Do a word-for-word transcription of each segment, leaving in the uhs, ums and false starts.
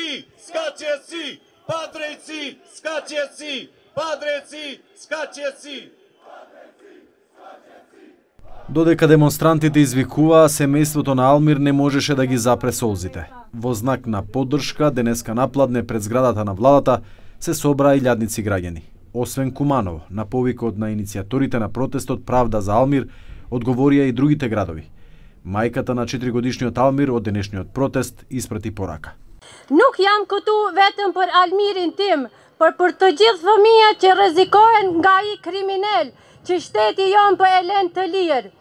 Падрејци, скачеци, падрејци, скачеци, падрејци, скачеци. Додека демонстрантите извикуваа, семејството на Алмир не можеше да ги запре солзите. Во знак на поддршка, денеска напладне пред зградата на владата се собраа илјадници граѓани. Освен Куманово, на повикот на иницијаторите на протестот Правда за Алмир, одговорија и другите градови. Мајката на четиригодишниот Алмир од денешниот протест испрати порака. Nuk jam këtu vetëm për Almirin tim, por për të gjithë fëmijët që rrezikohen nga ai kriminal që shteti jon po e lën të lirë.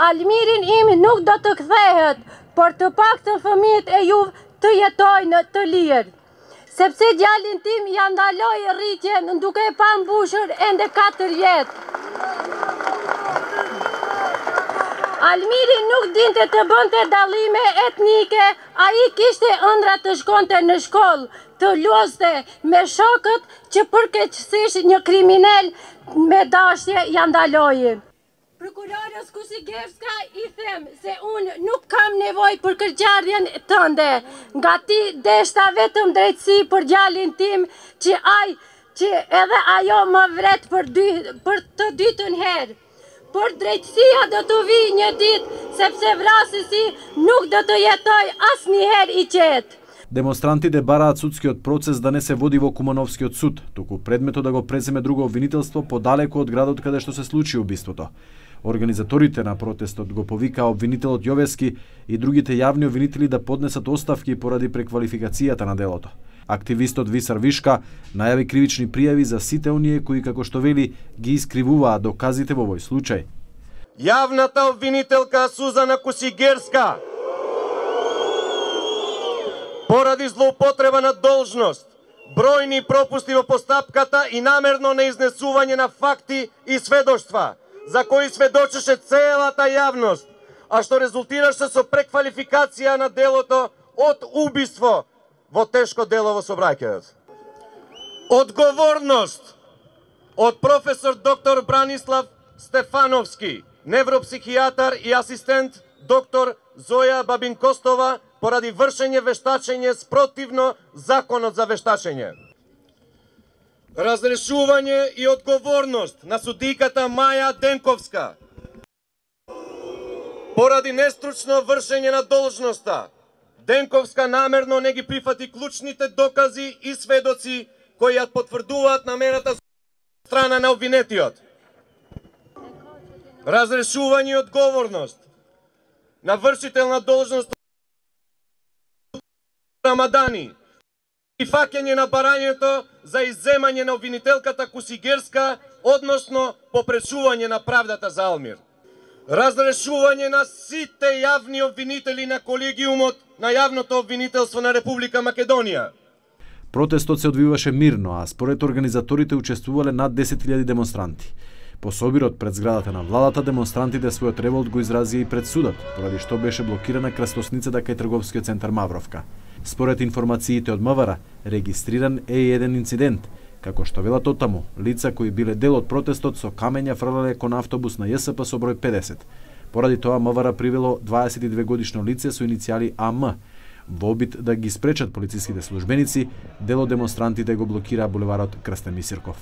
Almirin im nuk do të kthehet, por të paktën fëmijët e juve të jetojnë të lirë. Sepse djalin tim ja ndaloi rritjen duke e pa mbushur ende katër vjet. Almiri nuk dinte të bënte dallime etnike, ai kishte ëndra të shkonte në shkollë, të luaste me shokët që përkeqësisht një kriminal me dashje ja ndaloi. Prokurorës Kusigevska i them se unë nuk kam nevojë për kërqardhjen tënde, nga ti deshta vetëm drejtësi për djalin tim që ai që edhe ajo më vret për dy për të dytën herë. Por drejtësia do të vi një ditë, sepse vrasësi nuk do të jetoj asnjëherë i qetë. Демонстрантите бараат судскиот процес да не се води во Кумановскиот суд, туку предметот да го преземе друго обвинителство подалеку од градот каде што се случи убиството. Организаторите на протестот го повикаа обвинителот Јовески и другите јавни обвинители да поднесат оставки поради преквалификацијата на делото. Активистот Висар Вишка најави кривични пријави за сите оние кои, како што вели, ги искривуваат доказите во овој случај. Јавната обвинителка Сузана Кусигерска поради злоупотреба на должност, бројни пропусти во постапката и намерно неизнесување на факти и сведоштва, за кои сведочеше целата јавност, а што резултираше со преквалификација на делото од убиство во тешко дело во сообраќајот. Одговорност од професор доктор Бранислав Стефановски, невропсихијатар и асистент доктор Зоја Бабинкостова поради вршење вештачење спротивно законот за вештачење. Разрешување и одговорност на судиката Маја Денковска поради нестручно вршење на должноста. Денковска намерно не ги прифати клучните докази и сведоци кои ја потврдуваат намерата страна на обвинетиот. Разрешување и одговорност на вршител на должност Рамадани и фаќање на барањето за изземање на обвинителката Кусигерска, односно попречување на правдата за Алмир. Разрешување на сите јавни обвинители на колегиумот на јавното обвинителство на Република Македонија. Протестот се одвиваше мирно, а според организаторите учествувале над десет илјади демонстранти. По собирот пред зградата на владата, демонстрантите својот револт го изразија и пред судот, поради што беше блокирана крстосницата кај трговскиот центар Мавровка. Според информациите од МВР, регистриран е и еден инцидент, како што велат оттаму, лица кои биле дел од протестот со камења фрлале кон автобус на Ј С П со број педесет. Поради тоа МВР привело дваесет и две годишно лице со иницијали А М. Во обид да ги спречат полициските службеници, дел од демонстрантите го блокираа булеварот Крстен Мисирков.